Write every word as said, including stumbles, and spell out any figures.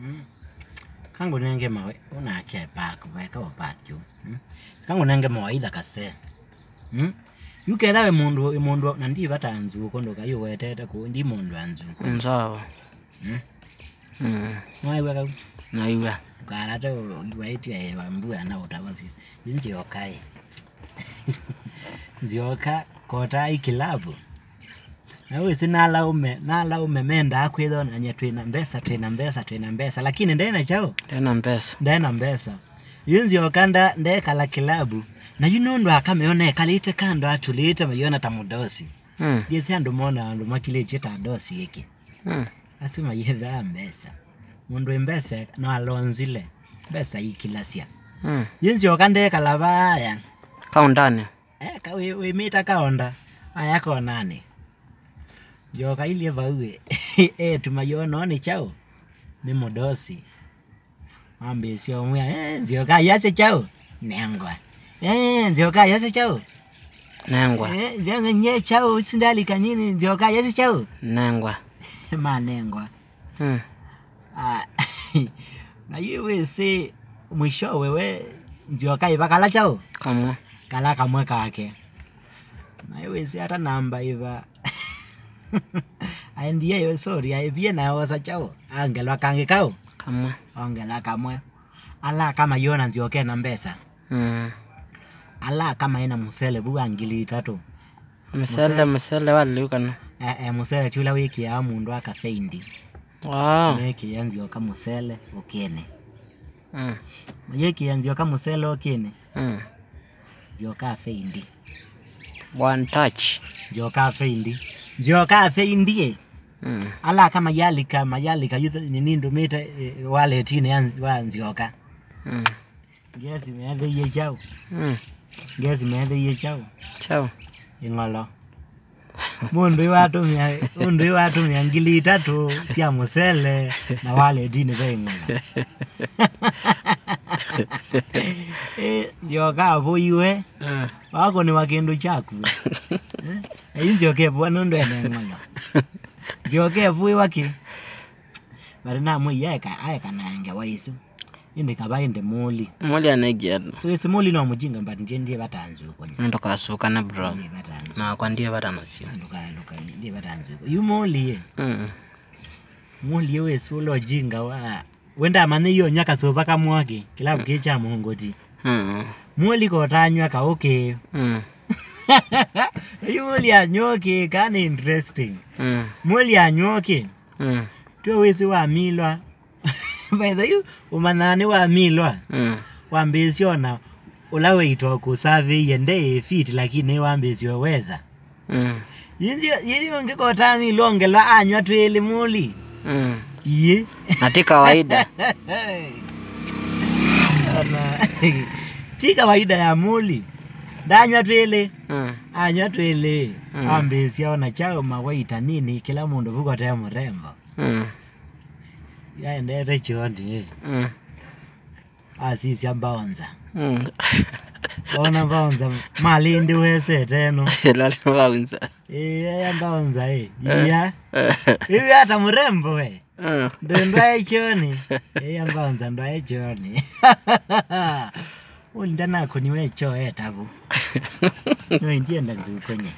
Mm. Kangũnenge mawe, ũnake park, weka wa park yu. Mm. Kangũnenge mawaitha kase. Mm. Yu ketha we mũndũ, we mũndũ, na ndi vata nzuko, ndũkai ũwetete kũu, ndi mũndũ wa nzuko. Nzawa. Mm. Mm. Nĩwaĩw'a kau? Nĩwaĩw'a. Ndũkarate ũ-, ũiw'aĩtye ĩwa mbua na ũtavasya. Yu nzyoka ĩ. Nzyoka kota i kilabu. Na wĩsĩ nalaume, nalaume mendaa kwĩthonany'a twĩ na mbesa, twĩ na mbesa, twĩ na mbesa. Lakini ndena kyaũ? Ndena mbesa. Ndena mbesa. Yu nzyoka nda-, ndekala kilabu. Na yu nũndũ akameo nekalĩte kando atulĩte mayona ta mũdosi. Mm. Ndiĩsĩ andũ mona andũ makilĩtye ta dosi ĩkĩ. Mm. Asu mayĩthaa mbesa. Mũndũ wĩ mbesa no alonzile. Mbesa ikilasya. Mm. Yu nzyoka ndekala vaya. Kaũndanĩ. Eka wĩ, wĩmĩta kaonda. Aya konanĩ. Nzyoka ilye vau ĩ. Etu mayona nĩ kyaũ? Nĩ mũdosi. Mambĩĩsya ũmwĩa, "Eh, nzyoka yasya kyaũ? Nengwa. Eh, nzyoka yasya kyaũ? Nengwa. Eh, nzyoka nye kyaũ? Isu ndalika nini, nzyoka yasya kyaũ? Nengwa." Manengwa. Mm. Ah, na yu wĩsĩ mwishowe we nzyoka ĩva kala kyaũ? Kamwe. Kala kamwe kake. Na yu wĩsĩ ata namba ĩva. Aendie yo, sorry, aivie na osa kyaũ? Angelwa kangĩ kaũ? Kamwe. Ongelwa kamwe. Ala kama yona nzyoka ena mbesa. Mm. Ala kama ena mũsele vu wa ngili itatũ. Mũsele, mũsele wa lĩu kana? Eh, eh, mũsele ti ũla wĩkĩaa mũndũ akafeindi. Wow. Mekĩa nzyoka mũsele ũkĩnĩ. Mm. Mayĩkĩa nzyoka mũsele ũkĩnĩ. Mm. Nzyoka afeindi. One touch. Nzyoka afeindi. Nzyoka afeindi. Mm. Ala kama yalika, mayalika, yu nini ndũmĩte, eh, wallet-inĩ ya nz-, wa nzyoka. Mm. Ngesi meethĩie kyaũ? Mm. Ngesi meethĩie kyaũ? Kyaũ? Ĩng'olo. Mũndũ ĩwatũmĩa, mũndũ ĩwatũmĩa ngili itatũ sya mũsele na wallet-inĩ ve ĩng'olo. Ĩ, nzyoka avũiwe. Ah. Wakũnĩwa kĩndũ kyaku. Eh? Ĩ, nzyoka ĩvũa nũndũ ene ĩng'olo. Nzyoka ĩvũiwa kĩ? But namwĩie aeka, aeka na ngewa isu. Ĩndĩ kava ĩndĩ mũli. Mũli anaigia. So ĩsi mũli no mũjinga, but ndiye, ndiye vata nzuko nye. Ndũkasukane, bro. Ndiye vata nzuko. Nakwa ndiye vata nasyo. Ndũka, ndũka, ndiye vata nzuko. Yu mũli ye. Mm. Mũli ye wĩsĩ ũla ũjinga wa. Wenda amanye iyo nyw'a kasũva kamwaki. Kilabu kĩ kya mũngũti. Mm. Mũli kotanywa kaũkĩ. Mm. Yu mũli anywa ũkĩ, kana interesting. Mm. Mũli anywa ũkĩ. Mm. Twe wĩsĩ wamilwa. By the way, ũmanyaa nĩwamilwa. Mm. Wambĩĩsya ona ũla weita ũkũsavĩie nde fit, lakini nĩwambĩĩsye weza. Mm. Yĩĩ, yĩĩ ũngĩ kotamilwa ongelwa anywa twĩlĩ mũli. Mm. Iĩ. Na ti kawaida. Ona, ti kawaida ya mũli. Ndanywa twĩlĩ. Mm. Anywa twĩlĩ. Mm. Ambĩĩsya ona kyaũ mawaita nini, kĩla mũndũ vuko te mũrembo. Mm. Yaendete kyoonĩ, ĩ. Mm. Asisya mbaonza. Mm. Ona mbaonza, malĩ ndĩwesete ĩno. Ĩla nĩ mbaonza. Ĩĩ, eya mbaonza, ĩ. Eh. Iya. Eh. Ĩu ata mũrembo, we. Mm. Ndũ ndwae kyoonĩ. Eya mbaonza ndwae kyoonĩ. Ũlinda nakũniwe kyoo etavu. No ndienda nzukonye.